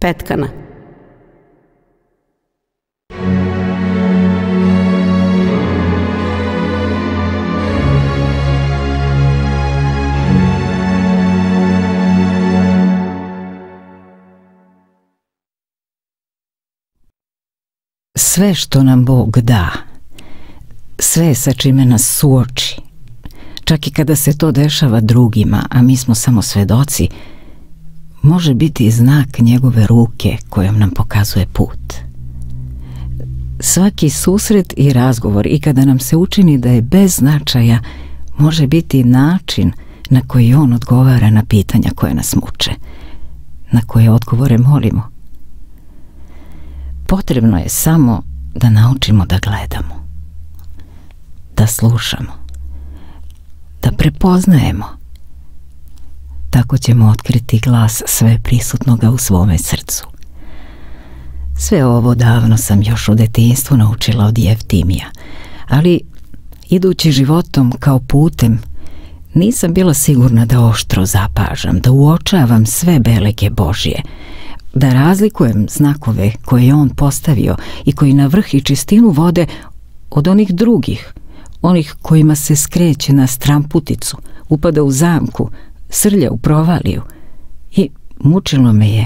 Petkana. Sve što nam Bog da, sve sa čime nas suoči, čak i kada se to dešava drugima, a mi smo samo svedoci, može biti znak njegove ruke kojom nam pokazuje put. Svaki susret i razgovor, i kada nam se učini da je bez značaja, može biti način na koji on odgovara na pitanja koje nas muče, na koje odgovore molimo. Potrebno je samo da naučimo da gledamo, da slušamo, da prepoznajemo. Tako ćemo otkriti glas sve prisutnoga u svome srcu. Sve ovo davno sam još u detinjstvu naučila od Jeftimija, ali idući životom kao putem nisam bila sigurna da oštro zapažam, da uočavam sve belege Božje, da razlikujem znakove koje je on postavio i koji na vrh i čistinu vode od onih drugih, onih kojima se skreće na stramputicu, upada u zamku, srlja u provaliju. I mučilo me je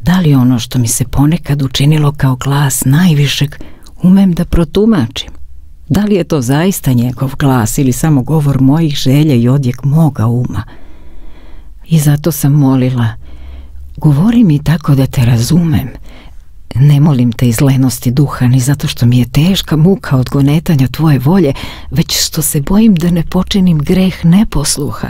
da li ono što mi se ponekad učinilo kao glas najvišeg umem da protumačim. Da li je to zaista njegov glas ili samo govor mojih želja i odjek moga uma. I zato sam molila: govori mi tako da te razumem. Ne molim te iz lenosti duha, ni zato što mi je teška muka od gonetanja tvoje volje, već što se bojim da ne počinim greh neposluha.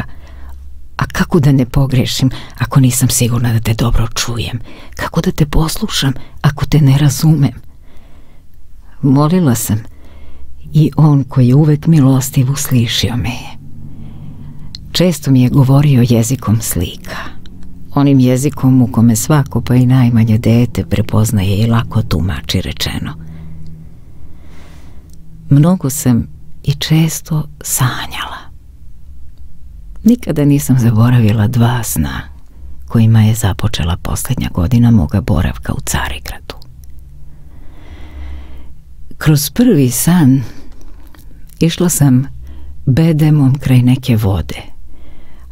A kako da ne pogrešim ako nisam sigurna da te dobro čujem? Kako da te poslušam ako te ne razumem? Molila sam i on koji je uvek milostiv uslišio me je. Često mi je govorio jezikom slika, onim jezikom u kome svako, pa i najmanje dete, prepoznaje i lako tumači rečeno. Mnogo sam i često sanjala. Nikada nisam zaboravila 2 sna kojima je započela posljednja godina moga boravka u Carigradu. Kroz prvi san išla sam bedemom kraj neke vode,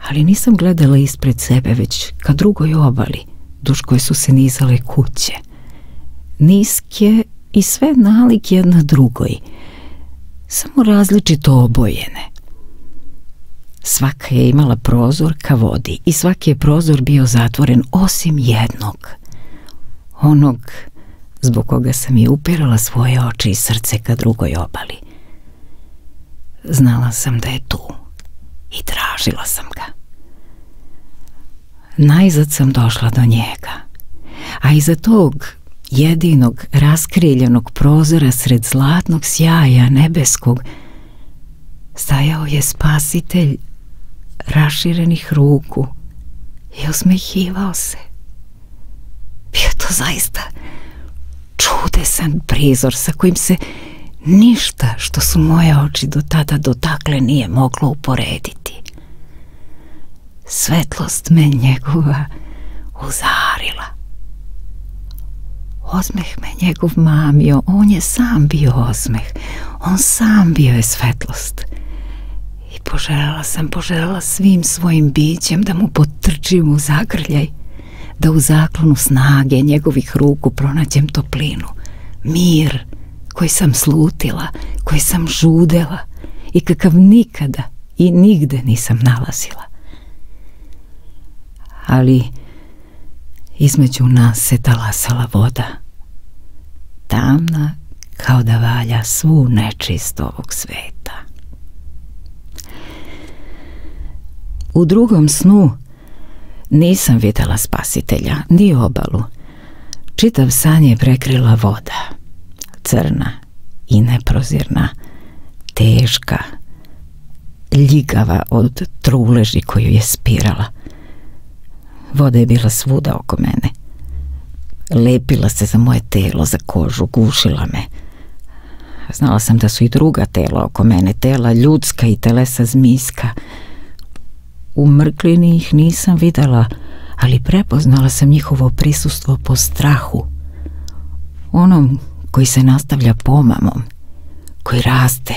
ali nisam gledala ispred sebe, već ka drugoj obali, duž koje su se nizale kuće, niske i sve nalik jedna drugoj, samo različito obojene. Svaka je imala prozor ka vodi i svaki je prozor bio zatvoren osim jednog, onog zbog koga sam i upirala svoje oči i srce ka drugoj obali. Znala sam da je tu i tražila sam ga. Najzad sam došla do njega, a iza tog jedinog raskriljenog prozora sred zlatnog sjaja nebeskog stajao je Spasitelj raširenih ruku i osmehivao se. Bio to zaista čudesan prizor sa kojim se ništa što su moje oči do tada dotakle nije moglo uporediti. Svetlost me njegova uzarila. Osmeh me njegov mamio, on je sam bio osmeh, on sam bio je svetlost. I poželjela svim svojim bićem da mu potrčim u zagrljaj, da u zaklonu snage njegovih ruku pronađem toplinu, mir koji sam slutila, koji sam žudela i kakav nikada i nigde nisam nalazila. Ali između nas se talasala voda, tamna kao da valja svu nečist ovog sveta. U drugom snu nisam videla Spasitelja, ni obalu. Čitav san je prekrila voda, crna i neprozirna, teška, ljigava od truleži koju je spirala. Voda je bila svuda oko mene. Lepila se za moje telo, za kožu, gušila me. Znala sam da su i druga tela oko mene, tela ljudska i telesa zmijska. U mrklini ih nisam videla, ali prepoznala sam njihovo prisustvo po strahu, onom koji se nastavlja pomamom, koji raste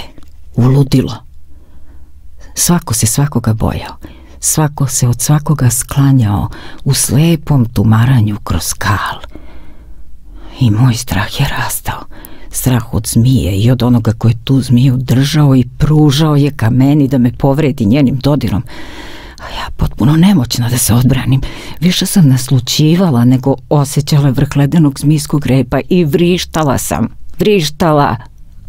u ludilo. Svako se svakoga bojao, svako se od svakoga sklanjao u slepom tumaranju kroz skal. I moj strah je rastao, strah od zmije i od onoga koji je tu zmiju držao i pružao je ka meni da me povredi njenim dodirom. A ja potpuno nemoćna da se odbranim. Više sam naslućivala nego osjećala vrh ledenog zmijskog repa i vrištala sam,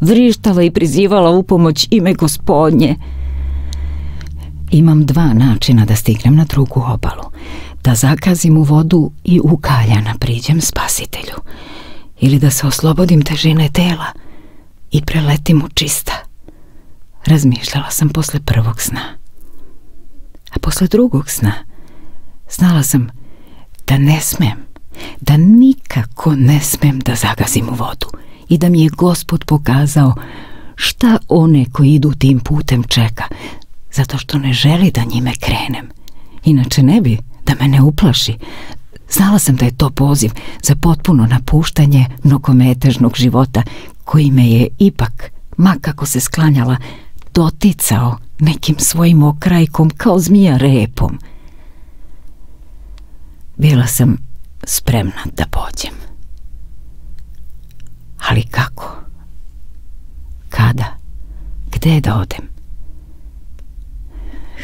vrištala i prizivala u pomoć ime Gospodnje. Imam dva načina da stignem na drugu obalu. Da zakazim u vodu i ukaljana priđem Spasitelju. Ili da se oslobodim težine tela i preletim u čista. Razmišljala sam posle prvog sna. A posle drugog sna znala sam da ne smem, da nikako ne smem da zagazim u vodu i da mi je Gospod pokazao šta one koji idu tim putem čeka, zato što ne želi da njime krenem. Inače ne bi da me ne uplaši. Znala sam da je to poziv za potpuno napuštanje mnogometežnog života koji me je ipak, ma kako se sklanjala, doticao nekim svojim okrajkom kao zmija repom. Bila sam spremna da pođem. Ali kako? Kada? Gde da odem?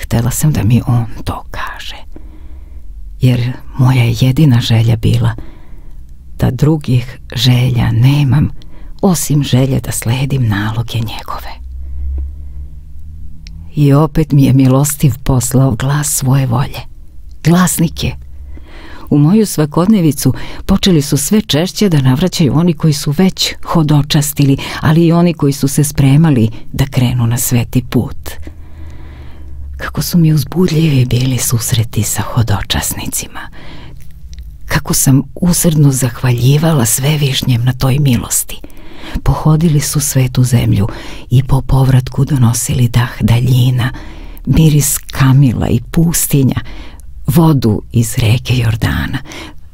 Htela sam da mi on to kaže, jer moja jedina želja bila da drugih želja nemam osim želje da sledim naloge njegove. I opet mi je milostiv poslao glas svoje volje. Glasnik je. U moju svakodnevicu počeli su sve češće da navraćaju oni koji su već hodočastili, ali i oni koji su se spremali da krenu na sveti put. Kako su mi uzbudljivi bili susreti sa hodočasnicima. Kako sam usrdno zahvaljivala Svevišnjem na toj milosti. Pohodili su svetu zemlju i po povratku donosili dah daljina, miris kamila i pustinja, vodu iz reke Jordana.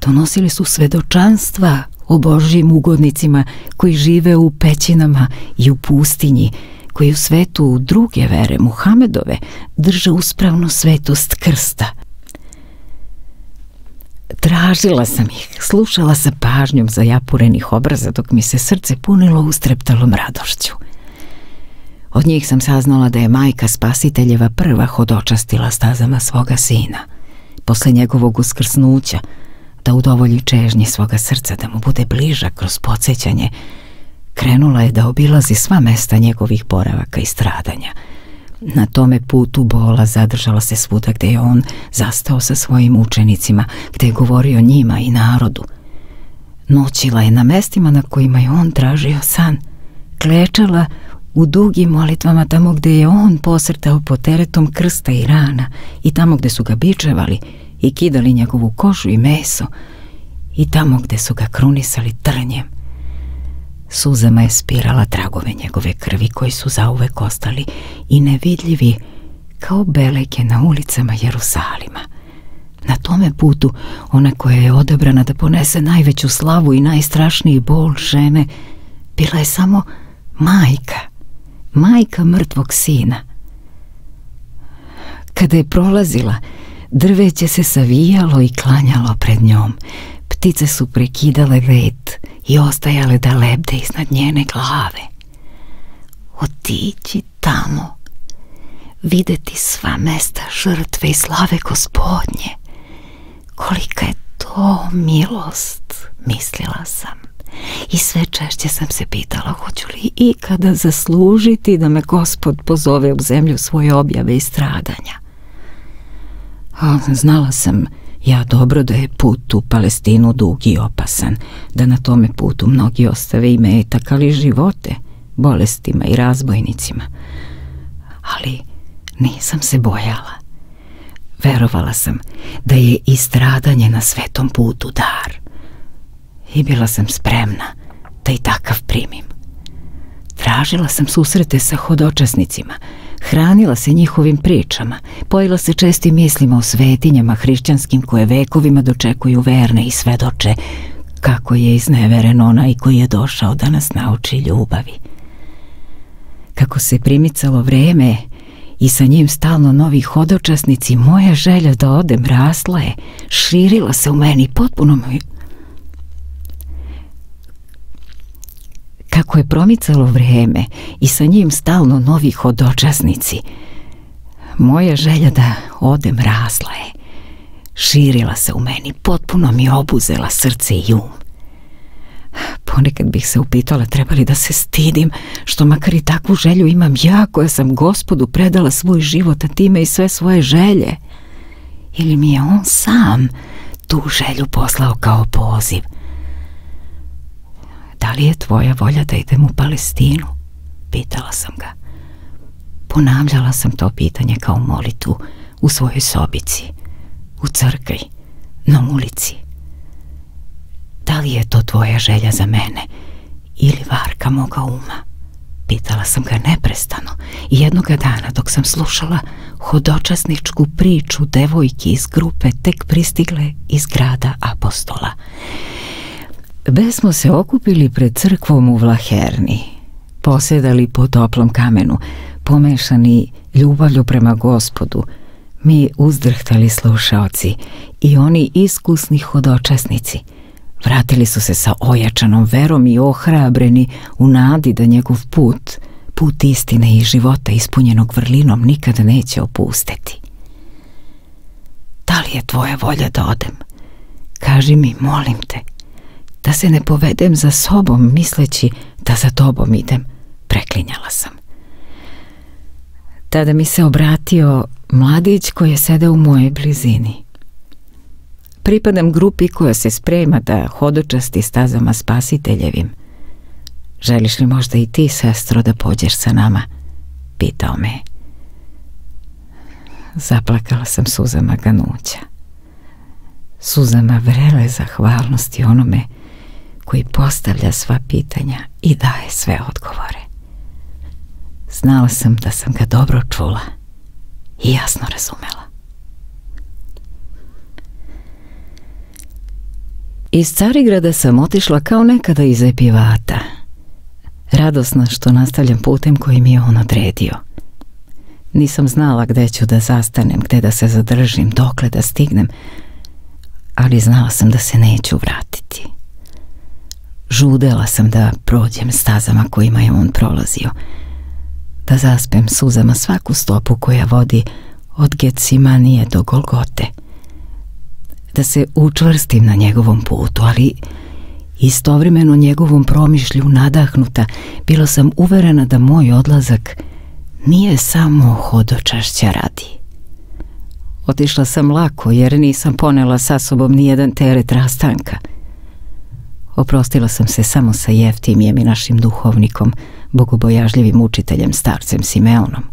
Donosili su svedočanstva o Božjim ugodnicima koji žive u pećinama i u pustinji, koji u svetu druge vere, Muhamedove, drže uspravnu svetost krsta. Tražila sam ih, slušala sa pažnjom zajapurenih obraza dok mi se srce punilo ustreptalom radošću. Od njih sam saznala da je majka Spasiteljeva prva hodočastila stazama svoga sina, posle njegovog uskrsnuća, da udovolji čežnji svoga srca, da mu bude bliža kroz podsjećanje. Krenula je da obilazi sva mesta njegovih boravaka i stradanja. Na tome putu bola zadržala se svuda gde je on zastao sa svojim učenicima, gde je govorio njima i narodu. Noćila je na mestima na kojima je on tražio san. Klečala u dugim molitvama tamo gde je on posrtao pod teretom krsta i rana i tamo gde su ga bičevali i kidali njegovu kožu i meso i tamo gde su ga krunisali trnjem. Suzama je spirala tragove njegove krvi koji su zauvek ostali i nevidljivi kao beleke na ulicama Jerusalima. Na tome putu ona koja je odabrana da ponese najveću slavu i najstrašniji bol žene bila je samo majka mrtvog sina. Kada je prolazila, drveće se savijalo i klanjalo pred njom. Ptice su prekidale let i ostajale da lebde iznad njene glave. Otići tamo, videti sva mesta žrtve i slave Gospodnje. Kolika je to milost, mislila sam. I sve češće sam se pitala hoću li ikada zaslužiti da me Gospod pozove u zemlju svoje objave i stradanja. Znala sam ja dobro da je put u Palestinu dug i opasan, da na tome putu mnogi ostave imetak, ali živote, bolestima i razbojnicima. Ali nisam se bojala. Verovala sam da je i stradanje na svetom putu dar. I bila sam spremna da i takav primim. Tražila sam susrete sa hodočasnicima. hranila se njihovim pričama, pojila se čestim mislima o svetinjama hrišćanskim koje vekovima dočekuju verne i svedoče kako je izneveren onaj koji je došao da nas nauči ljubavi. Kako se primicalo vreme i sa njim stalno novi hodočasnici, moja želja da odem rasla je, širila se u meni potpuno. Kako je promicalo vreme i sa njim stalno novi hodočasnici, moja želja da odem rasla je, širila se u meni, potpuno mi obuzela srce i um. Ponekad bih se upitala treba li da se stidim, što makar i takvu želju imam ja koja sam Gospodu predala svoj život, a time i sve svoje želje. Ili mi je on sam tu želju poslao kao poziv. Da li je tvoja volja da idem u Palestinu? Pitala sam ga. Ponavljala sam to pitanje kao molitvu u svojoj sobici, u crkvi, na ulici. Da li je to tvoja želja za mene ili varka moga uma? Pitala sam ga neprestano i jednoga dana dok sam slušala hodočasničku priču devojki iz grupe tek pristigle iz grada Apostola. Bez smo se okupili pred crkvom u Vlaherni, posedali po toplom kamenu, pomešani ljubavlju prema Gospodu, mi uzdrhtali slušaoci i oni iskusni hodočasnici. Vratili su se sa ojačanom verom i ohrabreni u nadi da njegov put istine i života ispunjenog vrlinom nikada neće opustiti. Da li je tvoja volja da odem? Kaži mi, molim te, da se ne povedem za sobom misleći da za tobom idem, preklinjala sam. Tada mi se obratio mladić koji je sedeo u mojoj blizini. Pripadam grupi koja se sprema da hodočasti stazama Spasiteljevim. Želiš li možda i ti, sestro, da pođeš sa nama? Pitao me. Zaplakala sam suzama ganuća. Suzama vrele zahvalnosti onome koji postavlja sva pitanja i daje sve odgovore. Znala sam da sam ga dobro čula i jasno razumela. Iz Carigrada sam otišla kao nekada iz Epivata, radosna što nastavljam putem koji mi je on odredio. Nisam znala gde ću da zastanem, gde da se zadržim, dokle da stignem, ali znala sam da se neću vratiti. Žudela sam da prođem stazama kojima je on prolazio, da zaspem suzama svaku stopu koja vodi od Getsemanije do Golgote, da se učvrstim na njegovom putu, ali istovremeno njegovom promišlju nadahnuta, bila sam uverena da moj odlazak nije samo hodočašća radi. Otišla sam lako jer nisam ponela sa sobom nijedan teret rastanka. Oprostila sam se samo sa Jeftimijem i našim duhovnikom, bogobojažljivim učiteljem starcem Simeonom,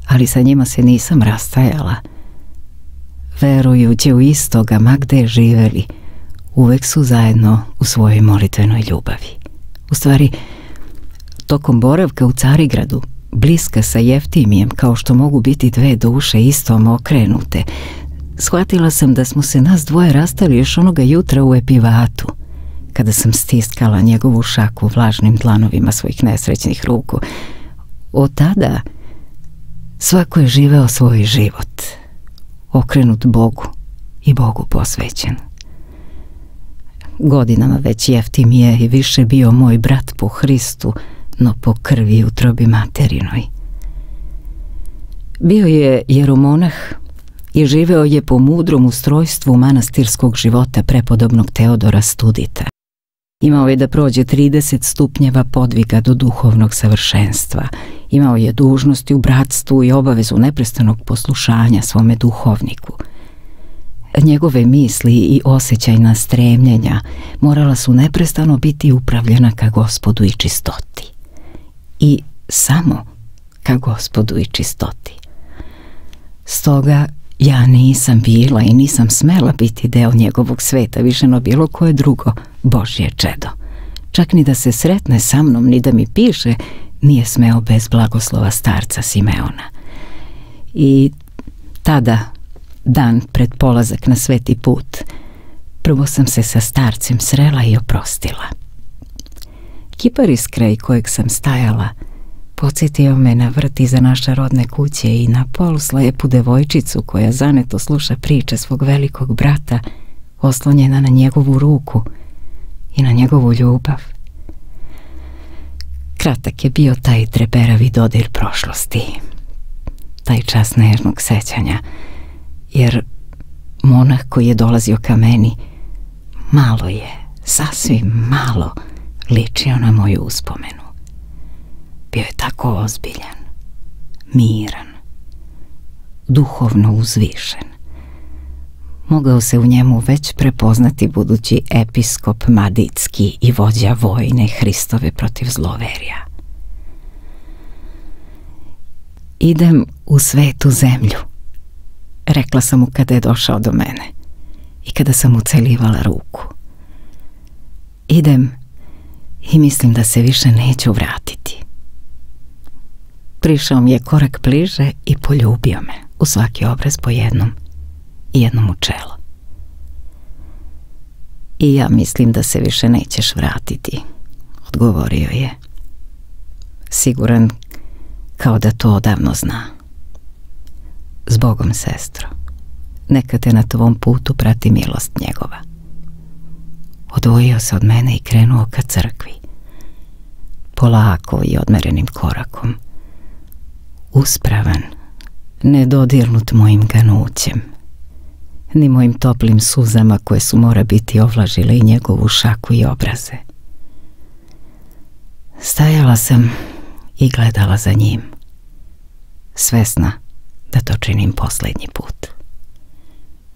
ali sa njima se nisam rastajala. Verujući u istoga, ma gde živeli, uvek su zajedno u svojoj molitvenoj ljubavi. U stvari, tokom boravka u Carigradu, bliska sa Jeftimijem, kao što mogu biti dve duše istom okrenute, shvatila sam da smo se nas dvoje rastali još onoga jutra u Epivatu, kada sam stiskala njegovu šaku vlažnim dlanovima svojih nesrećnih ruku. Od tada svako je živeo svoj život, okrenut Bogu i Bogu posvećen. Godinama već Jeftimije je više bio moj brat po Hristu, no po krvi i utrobi materinoj. Bio je jeromonah i živeo je po mudrom ustrojstvu manastirskog života prepodobnog Teodora Studita. Imao je da prođe 30 stupnjeva podviga do duhovnog savršenstva. Imao je dužnosti u bratstvu i obavezu neprestanog poslušanja svome duhovniku. Njegove misli i osjećajna stremljenja morala su neprestano biti upravljena ka Gospodu i čistoti. I samo ka Gospodu i čistoti. Stoga ja nisam bila i nisam smela biti deo njegovog sveta više no bilo koje drugo Božje čedo. Čak ni da se sretne sa mnom, ni da mi piše, nije smeo bez blagoslova starca Simeona. I tada, dan pred polazak na sveti put, prvo sam se sa starcem srela i oprostila. Kiparis kraj kojeg sam stajala podsjetio me na vrt iza naše rodne kuće i na poluslepu devojčicu koja zaneto sluša priče svog velikog brata, oslonjena na njegovu ruku i na njegovu ljubav. Kratak je bio taj treperavi dodir prošlosti, taj čas nežnog sećanja, jer monah koji je dolazio ka meni malo je, sasvim malo, ličio na moju uspomenu. Bio je tako ozbiljan, miran, duhovno uzvišen. Mogao se u njemu već prepoznati budući episkop Maditski i vođa vojne Hristove protiv zloverja. Idem u svetu zemlju, rekla sam mu kada je došao do mene i kada sam mu celivala ruku. Idem i mislim da se više neću vratiti. Prišao mi je korak bliže i poljubio me u svaki obraz po jednom i jednom u čelo. I ja mislim da se više nećeš vratiti, odgovorio je, siguran kao da to odavno zna. Zbogom, sestro, neka te na tvom putu prati milost njegova. Odvojio se od mene i krenuo ka crkvi, polako i odmerenim korakom, uspravan, nedodirnut mojim ganućem, ni mojim toplim suzama koje su mora biti ovlažile i njegovu šaku i obraze. Stajala sam i gledala za njim, svesna da to činim posljednji put.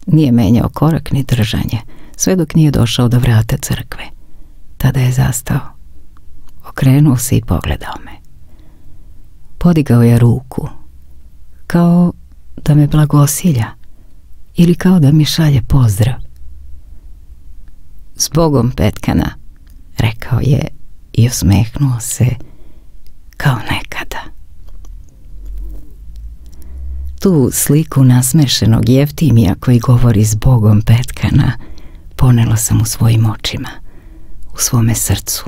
Nije menjao korak ni držanje, sve dok nije došao do vrata crkve. Tada je zastao, okrenuo se i pogledao me. Podigao je ruku, kao da me blagosilja ili kao da mi šalje pozdrav. Zbogom, Petkana, rekao je i osmehnuo se kao nekada. Tu sliku nasmešenog Jeftimija koji govori zbogom, Petkana, ponela sam u svojim očima, u svome srcu,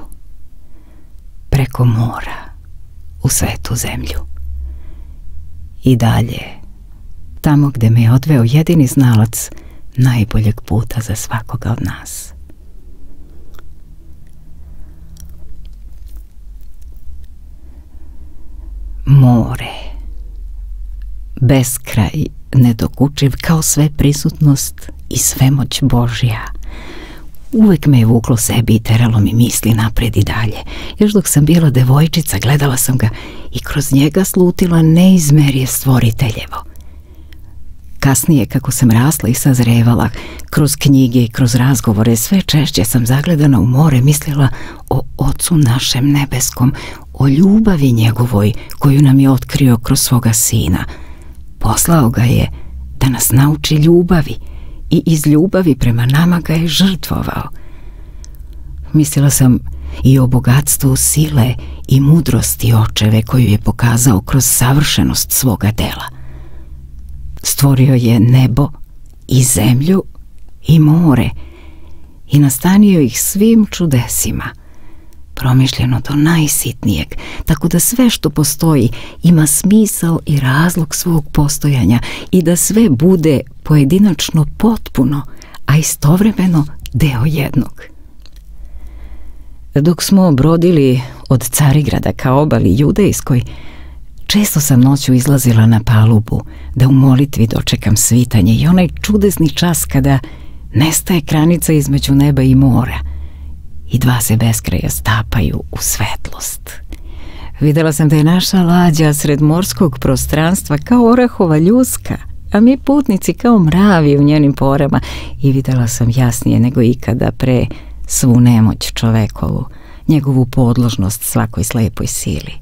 preko mora, u svetu zemlju. I dalje, tamo gde me je odveo jedini znalac najboljeg puta za svakoga od nas. More, beskraj, nedokučiv kao sve prisutnost i svemoć Božja, uvek me je vuklo sebi i teralo mi misli napred i dalje. Još dok sam bila devojčica, gledala sam ga i kroz njega slutila neizmerje stvoriteljevo. Kasnije, kako sam rasla i sazrevala, kroz knjige i kroz razgovore, sve češće sam zagledana u more mislila o Ocu našem nebeskom, o ljubavi njegovoj koju nam je otkrio kroz svoga Sina. Poslao ga je da nas nauči ljubavi i iz ljubavi prema nama ga je žrtvovao. Mislila sam i o bogatstvu sile i mudrosti očeve koju je pokazao kroz savršenost svoga dela. Stvorio je nebo i zemlju i more i nastanio ih svim čudesima, promišljeno do najsitnijeg, tako da sve što postoji ima smisao i razlog svog postojanja i da sve bude pojedinačno potpuno, a istovremeno deo jednog. Dok smo brodili od Carigrada ka obali Judejskoj, često sam noću izlazila na palubu da u molitvi dočekam svitanje i onaj čudesni čas kada nestaje granica između neba i mora i dva se beskraja stapaju u svetlost. Videla sam da je naša lađa sred morskog prostranstva kao orahova ljuska, a mi putnici kao mravi u njenim porama, i videla sam jasnije nego ikada pre svu nemoć čovekovu, njegovu podložnost svakoj slepoj sili.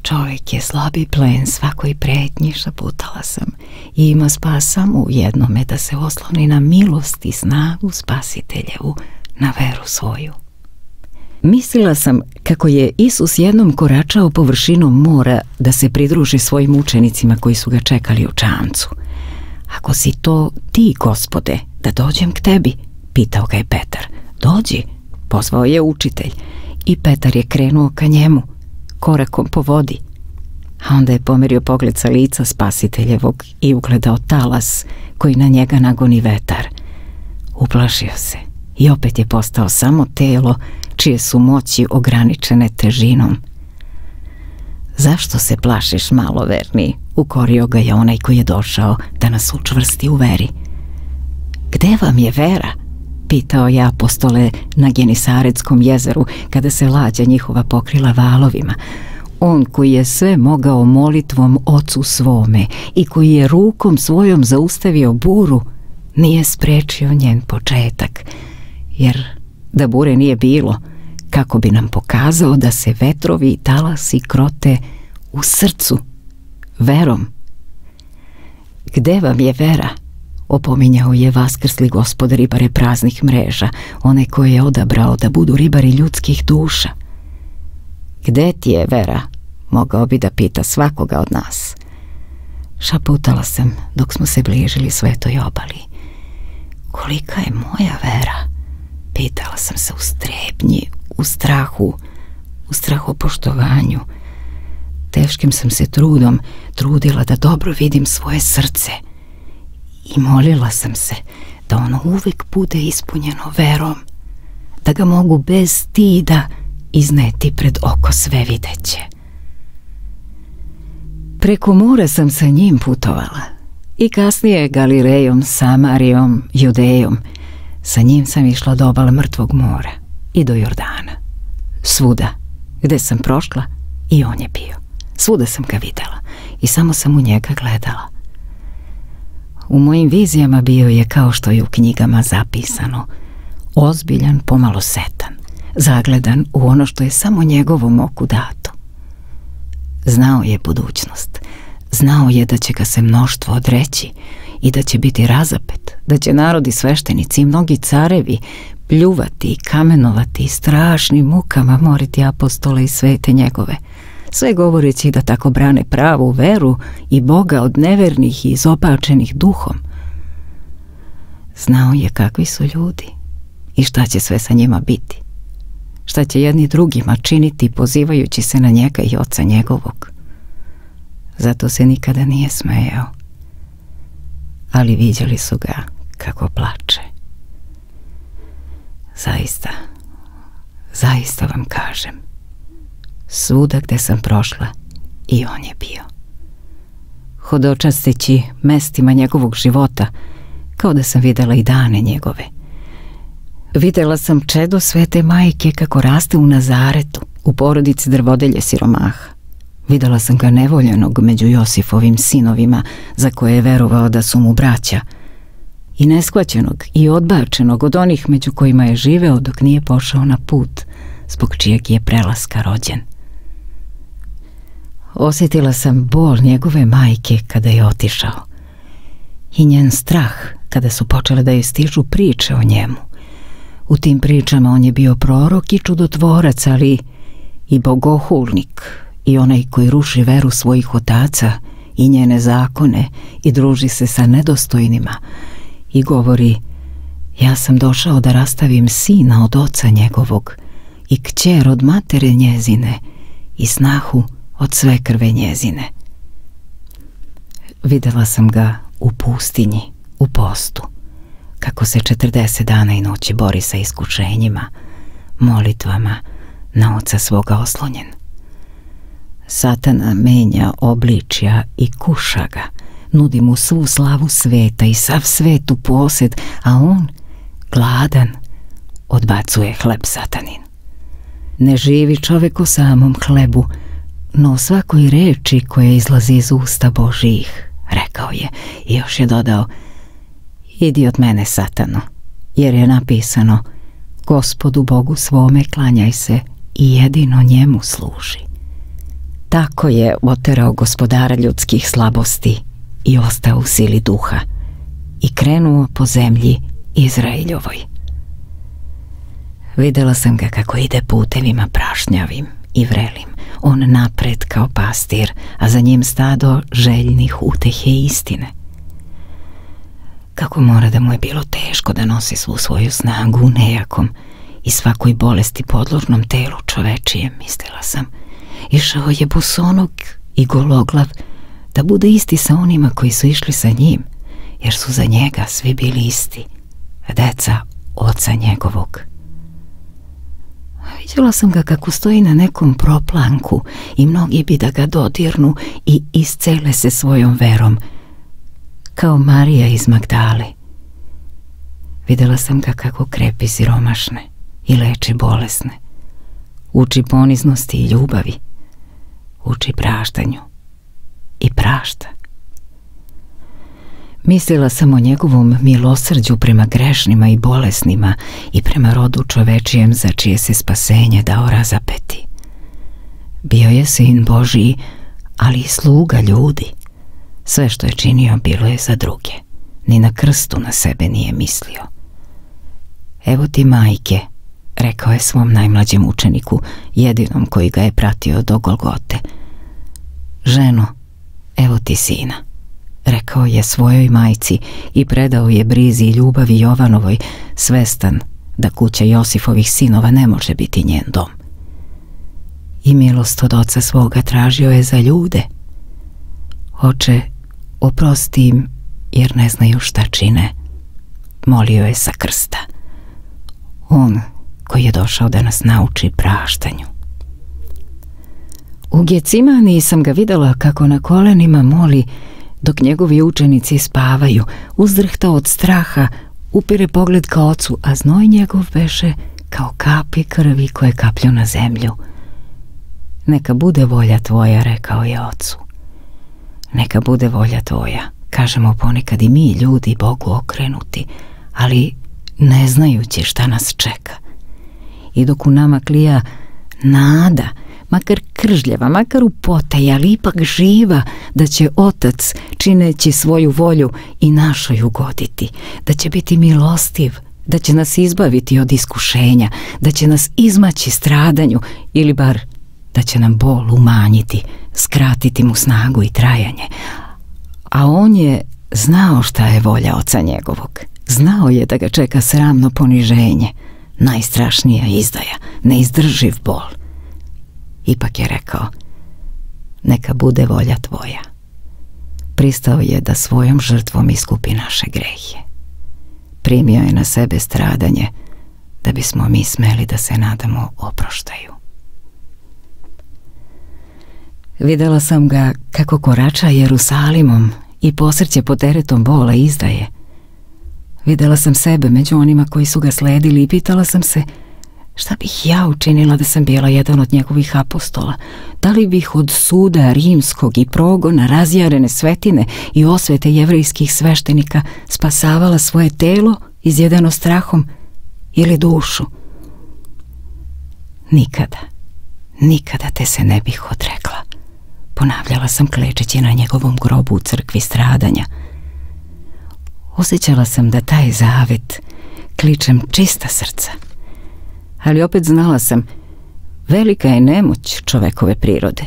Čovjek je slabi plen svakoj pretnji, šaputala sam, i ima spas samo u jednome, da se osloni na milost i snagu Spasiteljevu, na veru svoju. Mislila sam kako je Isus jednom koračao površinom mora da se pridruži svojim učenicima koji su ga čekali u čamcu. Ako si to ti, Gospode, da dođem k tebi, pitao ga je Petar. Dođi, pozvao je učitelj i Petar je krenuo ka njemu, korakom po vodi. A onda je pomerio pogled sa lica Spasiteljevog i ugledao talas koji na njega nagoni vetar. Uplašio se i opet je postao samo telo čije su moći ograničene težinom. Zašto se plašiš, maloverni? Ukorio ga je onaj koji je došao da nas učvrsti u veri. Gde vam je vera? Pitao je apostole na Genisaretskom jezeru kada se lađa njihova pokrila valovima. On koji je sve mogao molitvom Ocu svome i koji je rukom svojom zaustavio buru, nije sprečio njen početak, jer da bure nije bilo, kako bi nam pokazao da se vetrovi i talasi krote u srcu, verom. Gde vam je vera? Opominjao je vaskrsli Gospod ribare praznih mreža, one koje je odabrao da budu ribari ljudskih duša. Gde ti je vera? Mogao bi da pita svakoga od nas. Šaputala sam dok smo se bližili svetoj obali. Kolika je moja vera? Pitala sam se u strepnji, u strahu, u strahopoštovanju. Teškim sam se trudom trudila da dobro vidim svoje srce i molila sam se da ono uvek bude ispunjeno verom, da ga mogu bez stida izneti pred oko svevideće. Preko mora sam sa njim putovala i kasnije Galilejom, Samarijom, Judejom. Sa njim sam išla do obale Mrtvog mora i do Jordana. Svuda gde sam prošla i on je bio. Svuda sam ga videla i samo sam u njega gledala. U mojim vizijama bio je kao što je u knjigama zapisano, ozbiljan, pomalo setan, zagledan u ono što je samo njegovom oku dato. Znao je budućnost, znao je da će ga se mnoštvo odreći i da će biti razapet, da će narodi, sveštenici i mnogi carevi pljuvati i kamenovati i strašnim mukama moriti apostole i svete njegove, sve govoreći da tako brane pravu veru i Boga od nevernih i izopačenih duhom. Znao je kakvi su ljudi i šta će sve sa njima biti, šta će jedni drugima činiti pozivajući se na njega i Oca njegovog. Zato se nikada nije smejao, ali viđali su ga kako plače. Zaista vam kažem, svuda gde sam prošla i on je bio. Hodočasteći mestima njegovog života, kao da sam videla i dane njegove. Videla sam čedo svete majke kako raste u Nazaretu, u porodici drvodelje siromaha. Videla sam ga nevoljenog među Josifovim sinovima, za koje je verovao da su mu braća, i neshvaćenog i odbačenog od onih među kojima je živeo dok nije pošao na put, zbog čijeg je prelaska rođen. Osjetila sam bol njegove majke kada je otišao i njen strah kada su počele da joj stižu priče o njemu. U tim pričama on je bio prorok i čudotvorac, ali i bogohulnik i onaj koji ruši veru svojih otaca i njene zakone i druži se sa nedostojnima i govori: ja sam došao da rastavim sina od oca njegovog i kćer od matere njezine i snahu od svekrve njezine. Videla sam ga u pustinji, u postu, kako se 40 dana i noći bori sa iskušenjima, molitvama, na Oca svoga oslonjen. Satana menja obličja i kuša ga, nudi mu svu slavu sveta i sav svet u posed, a on, gladan, odbacuje hleb satanin. Ne živi čovek o samom hlebu, no o svakoj reči koja izlazi iz usta Božijih, rekao je i još je dodao: idi od mene, Satano, jer je napisano: Gospodu Bogu svome klanjaj se i jedino njemu služi. Tako je oterao gospodara ljudskih slabosti i ostao u sili duha i krenuo po zemlji Izraeljovoj. Videla sam ga kako ide putevima prašnjavim i vrelim, on napred kao pastir, a za njim stado željnih utehe i istine. Kako mora da mu je bilo teško da nosi svu svoju snagu u nejakom i svakoj bolesti podložnom telu čovečijem, mislila sam. Išao je bosonog i gologlav da bude isti sa onima koji su išli sa njim, jer su za njega svi bili isti, deca oca njegovog. Vidjela sam ga kako stoji na nekom proplanku i mnogi bi da ga dodirnu i iscele se svojom verom, kao Marija iz Magdale. Vidjela sam ga kako krepi siromašne i leči bolesne, uči poniznosti i ljubavi, uči praštanju i prašta. Mislila sam o njegovom milosrđu prema grešnima i bolesnima i prema rodu čovečijem za čije se spasenje dao razapeti. Bio je sin Božiji, ali i sluga ljudi. Sve što je činio bilo je za druge. Ni na krstu na sebe nije mislio. Evo ti majke, rekao je svom najmlađem učeniku, jedinom koji ga je pratio do Golgote. Ženo, evo ti sina, rekao je svojoj majci i predao je brizi i ljubavi Jovanovoj, svestan da kuća Josifovih sinova ne može biti njen dom. I milost od oca svoga tražio je za ljude. Oče, oprosti im, jer ne znaju šta čine, molio je sa krsta. On koji je došao da nas nauči praštanju. U Gecimani sam ga videla kako na kolenima moli, dok njegovi učenici spavaju, uzdrhta od straha, upire pogled ka ocu, a znoj njegov beše kao kapi krvi koje kaplju na zemlju. Neka bude volja tvoja, rekao je ocu. Neka bude volja tvoja, kažemo ponekad i mi ljudi Bogu okrenuti, ali ne znajući šta nas čeka. I dok u nama klija nada, makar kržljava, makar u potaji, ali ipak živa, da će Otac, čineći svoju volju, i našoj ugoditi, da će biti milostiv, da će nas izbaviti od iskušenja, da će nas izmaći stradanju, ili bar da će nam bol umanjiti, skratiti mu snagu i trajanje. A on je znao šta je volja oca njegovog. Znao je da ga čeka sramno poniženje, najstrašnija izdaja, neizdrživ bol. Ipak je rekao, neka bude volja tvoja. Pristao je da svojom žrtvom iskupi naše grehe. Primio je na sebe stradanje, da bismo mi smeli da se nadamo oproštaju. Videla sam ga kako korača Jerusalimom i posrće pod teretom bola i izdaje. Videla sam sebe među onima koji su ga sledili i pitala sam se, šta bih ja učinila da sam bila jedan od njegovih apostola? Da li bih od suda rimskog i progona, razjarene svetine i osvete jevrejskih sveštenika spasavala svoje telo izjedeno strahom ili dušu? Nikada, nikada te se ne bih odrekla, ponavljala sam klečeći na njegovom grobu u crkvi stradanja. Osjećala sam da taj zavet kličem čista srca, ali opet znala sam, velika je nemoć čovekove prirode.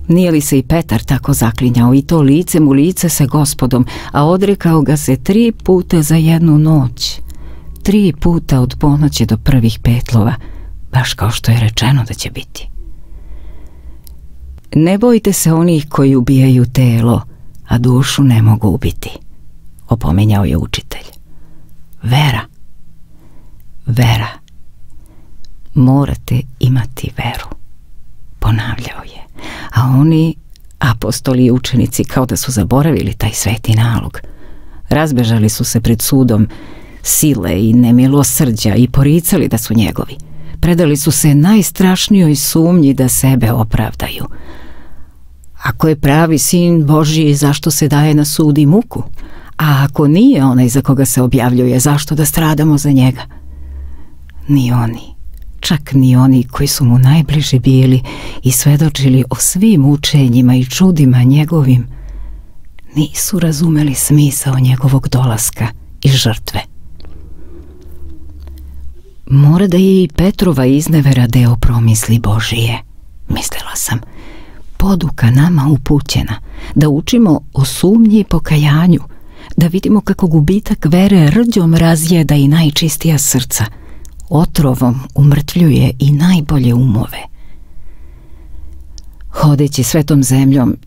Nije li se i Petar tako zaklinjao, i to licem u lice sa Gospodom, a odrekao ga se 3 puta za jednu noć, 3 puta od ponoći do prvih petlova, baš kao što je rečeno da će biti. Ne bojte se onih koji ubijaju telo, a dušu ne mogu ubiti, opominjao je učitelj. Vera, vera. Morate imati veru, ponavljao je, a oni, apostoli i učenici, kao da su zaboravili taj sveti nalog. Razbežali su se pred sudom sile i nemilosrđa i poricali da su njegovi. Predali su se najstrašnijoj sumnji da sebe opravdaju. Ako je pravi sin Božji, zašto se daje na sud i muku? A ako nije onaj za koga se objavljuje, zašto da stradamo za njega? Ni oni, čak ni oni koji su mu najbliži bili i svedočili o svim učenjima i čudima njegovim, nisu razumeli smisao njegovog dolaska i žrtve. Mora da je i Petrova iznevera deo promisli Božije, mislila sam. Poduka nama upućena, da učimo o sumnji i pokajanju, da vidimo kako gubitak vere rđom razjeda i najčistija srca, otrovom umrtvljuje i najbolje umove. Hodeći svetom zemljom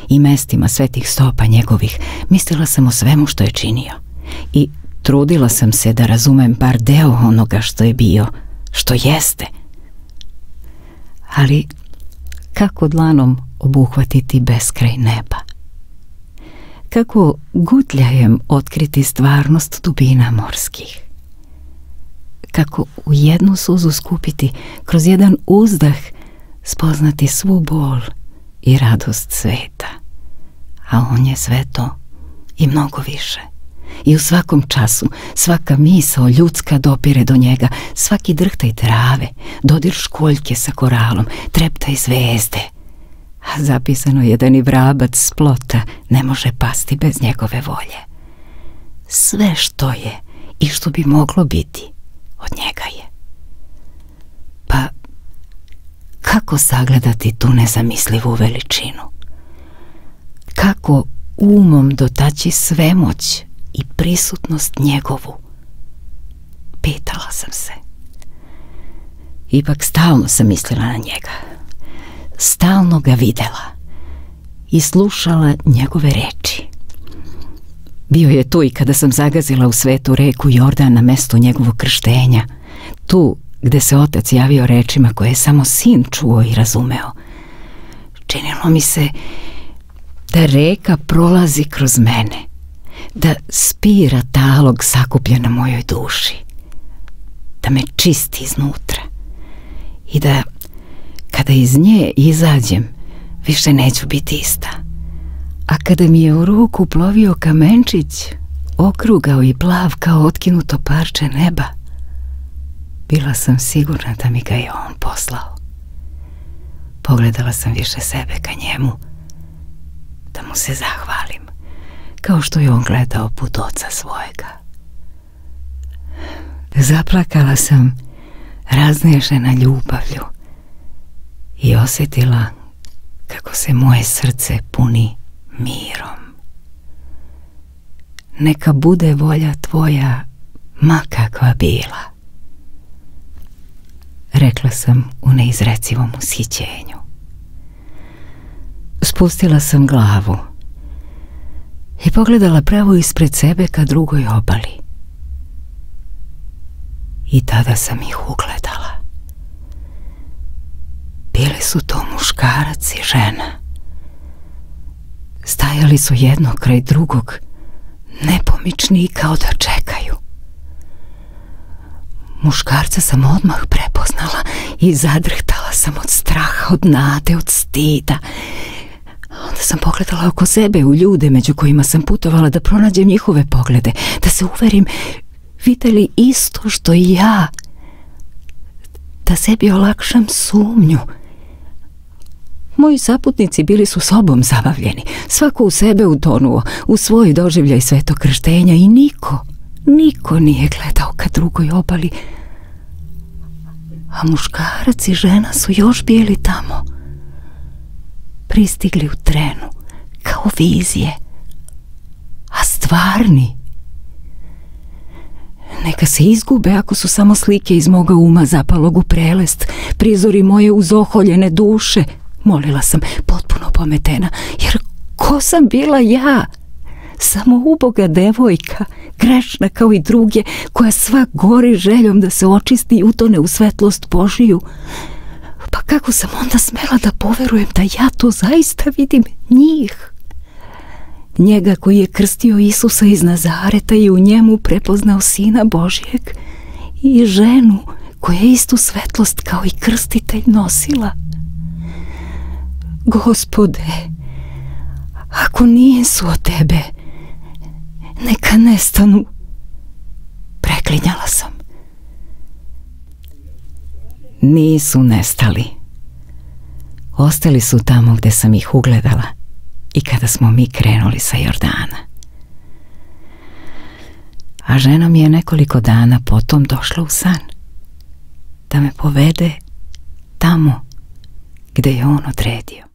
i mestima svetih stopa njegovih, mislila sam o svemu što je činio i trudila sam se da razumem bar deo onoga što je bio, što jeste. Ali kako dlanom obuhvatiti beskraj neba? Kako gutljajem otkriti stvarnost dubina morskih? Kako u jednu suzu skupiti, kroz jedan uzdah spoznati svu bol i radost sveta? A on je sve to i mnogo više. I u svakom času, svaka misao ljudska dopire do njega, svaki drhtaj trave, dodir školjke sa koralom, treptaj zvezde. A zapisano je da ni vrabac s plota ne može pasti bez njegove volje. Sve što je i što bi moglo biti, od njega je. Pa kako sagledati tu nezamislivu veličinu? Kako umom dotaći svemoć i prisutnost njegovu? Pitala sam se. Ipak stalno sam mislila na njega. Stalno ga videla i slušala njegove reči. Bio je tu i kada sam zagazila u svetu reku Jordan na mesto njegovog krštenja, tu gde se otac javio rečima koje je samo sin čuo i razumeo. Činilo mi se da reka prolazi kroz mene, da spira talog sakupljen na mojoj duši, da me čisti iznutra i da kada iz nje izađem više neću biti ista. A kada mi je u ruku plovio kamenčić, okrugao i plav kao otkinuto parče neba, bila sam sigurna da mi ga je on poslao. Pogledala sam više sebe ka njemu, da mu se zahvalim, kao što je on gledao put oca svojega. Zaplakala sam raznešena ljubavlju i osjetila kako se moje srce puni mirom. Neka bude volja tvoja, ma kakva bila, rekla sam u neizrecivom ushićenju. Spustila sam glavu i pogledala pravo ispred sebe ka drugoj obali. I tada sam ih ugledala. Bili su to muškarac i žena. Stajali su jedno kraj drugog, nepomični kao da čekaju. Muškarca sam odmah prepoznala i zadrhtala sam od straha, od nade, od stida. Onda sam pogledala oko sebe u ljude među kojima sam putovala da pronađem njihove poglede, da se uverim vide li isto što i ja, da sebi olakšam sumnju. Moji saputnici bili su sobom zabavljeni, svako u sebe utonuo, u svoj doživljaj svetog krštenja i niko nije gledao ka drugoj obali. A muškarac i žena su još bili tamo, pristigli u trenu, kao vizije, a stvarni. Neka se izgube ako su samo slike iz moga uma zapalog u prelest, prizori moje uzoholjene duše, molila sam, potpuno pometena, jer ko sam bila ja? Samo uboga devojka, grešna kao i druge, koja sva gori željom da se očisti i utone u svetlost Božiju. Pa kako sam onda smela da poverujem da ja to zaista vidim njih? Njega koji je krstio Isusa iz Nazareta i u njemu prepoznao Sina Božjeg, i ženu koja je istu svetlost kao i krstitelj nosila. Gospode, ako nisu od tebe, neka nestanu, preklinjala sam. Nisu nestali. Ostali su tamo gde sam ih ugledala i kada smo mi krenuli sa Jordana. A žena mi je nekoliko dana potom došla u san da me povede tamo gde je on odredio.